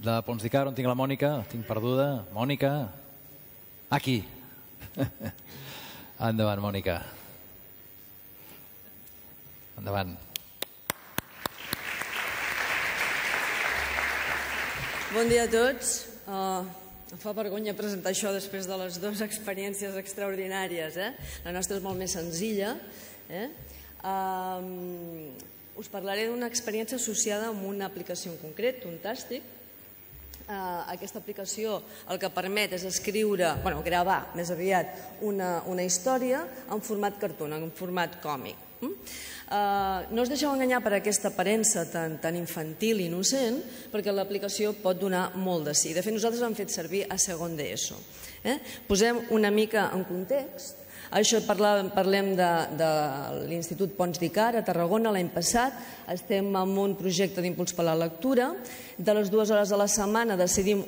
de Pons d'Icart, on tinc la Mònica? La tinc perduda. Mònica? Aquí. Endavant, Mònica. Endavant. Bon dia a tots. Em fa vergonya presentar això després de les dues experiències extraordinàries. La nostra és molt més senzilla. Us parlaré d'una experiència associada amb una aplicació en concret, Tuntastic. Aquesta aplicació el que permet és gravar més aviat una història en format cartoon, en format còmic. No us deixeu enganyar per aquesta aparença tan infantil i innocent, perquè l'aplicació pot donar molt de sí. De fet, nosaltres l'hem fet servir a segon d'ESO. Posem una mica en context. Això parlem de l'Institut Pons d'Icart a Tarragona l'any passat. Estem en un projecte d'impuls per la lectura. De les 2 hores a la setmana decidim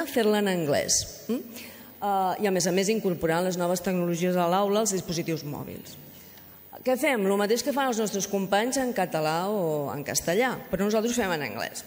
fer-la en anglès. I a més incorporant les noves tecnologies a l'aula als dispositius mòbils. Què fem? El mateix que fan els nostres companys en català o en castellà, però nosaltres ho fem en anglès.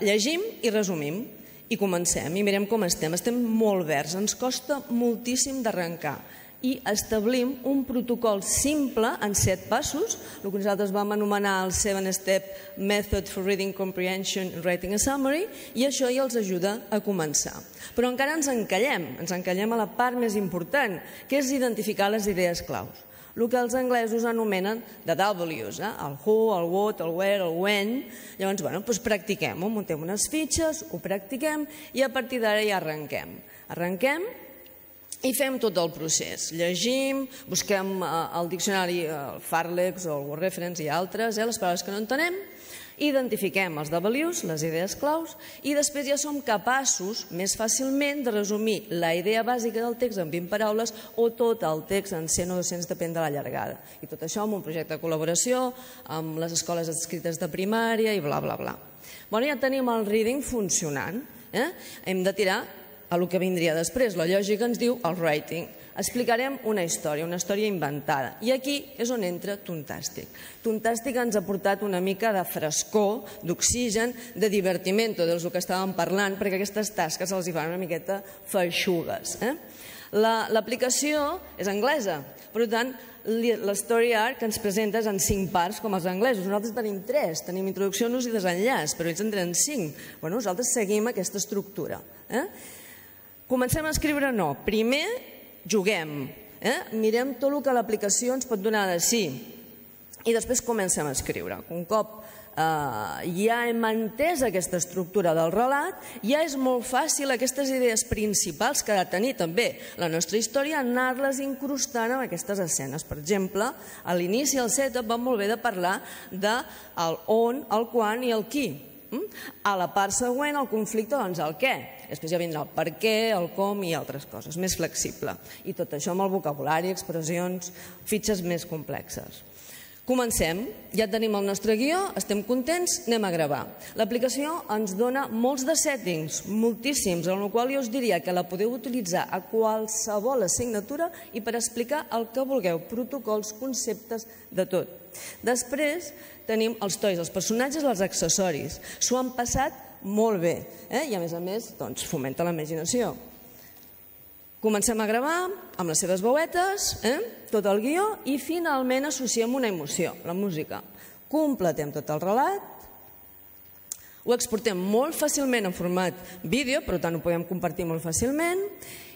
Llegim i resumim, i comencem, i mirem com estem. Estem molt verds, ens costa moltíssim d'arrencar, i establim un protocol simple en 7 passos, el que nosaltres vam anomenar el 7-step Method for Reading Comprehension and Writing a Summary, i això ja els ajuda a començar. Però encara ens encallem a la part més important, que és identificar les idees claus. El que els anglesos anomenen the W's, el who, el what, el where, el when. Llavors, practiquem-ho, muntem unes fitxes, ho practiquem i a partir d'ara ja arrenquem. Arrenquem i fem tot el procés. Llegim, busquem al diccionari el Farlex o el Word Reference i altres, les paraules que no entenem, identifiquem els W's, les idees claus, i després ja som capaços més fàcilment de resumir la idea bàsica del text en 20 paraules o tot el text en 100 o 200, depèn de la llargada. I tot això amb un projecte de col·laboració, amb les escoles adscrites de primària i bla, bla, bla. Ja tenim el reading funcionant. Hem de tirar a el que vindria després. La lògica ens diu el writing. Explicarem una història inventada. I aquí és on entra Tuntastic. Tuntastic ens ha portat una mica de frescor, d'oxigen, de divertiment, del que estàvem parlant, perquè aquestes tasques els hi fan una miqueta feixugues. L'aplicació és anglesa, per tant, l'story arc que ens presenta és en 5 parts, com els anglesos. Nosaltres tenim 3, tenim introducció, nus i desenllaç, però ells en tenen 5. Nosaltres seguim aquesta estructura. Comencem a escriure no. Primer, juguem, mirem tot el que l'aplicació ens pot donar de sí i després comencem a escriure. Un cop ja hem entès aquesta estructura del relat, ja és molt fàcil aquestes idees principals que ha de tenir també la nostra història anar-les incrustant en aquestes escenes. Per exemple, a l'inici, al setup, va molt bé de parlar del on, el quan i el qui. A la part següent, el conflicte, doncs el què. Després ja vindrà el per què, el com i altres coses, més flexible. I tot això amb el vocabulari, expressions, fitxes més complexes. Comencem, ja tenim el nostre guió, estem contents, anem a gravar. L'aplicació ens dona molts de settings, moltíssims, en el qual jo us diria que la podeu utilitzar a qualsevol assignatura i per explicar el que vulgueu, protocols, conceptes, de tot. Després tenim els toys, els personatges, els accessoris. S'ho han passat molt bé i a més fomenta la imaginació. Comencem a gravar amb les seves veuetes, tot el guió, i finalment associem una emoció, la música. Completem tot el relat, ho exportem molt fàcilment en format vídeo, per tant ho podem compartir molt fàcilment,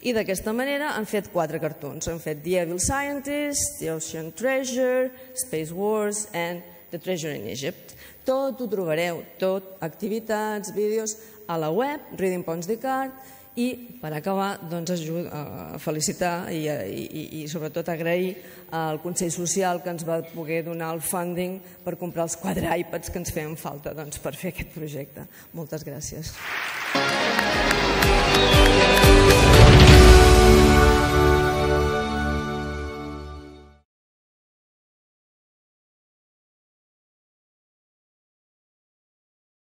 i d'aquesta manera han fet 4 cartoons. Han fet The Evil Scientist, The Ocean Treasure, Space Wars and The Treasure in Egypt. Tot ho trobareu, tot, activitats, vídeos, a la web, Reading Pons d'Icart, i per acabar a felicitar i sobretot agrair al Consell Social que ens va poder donar el funding per comprar els 4 iPads que ens feien falta per fer aquest projecte. Moltes gràcies.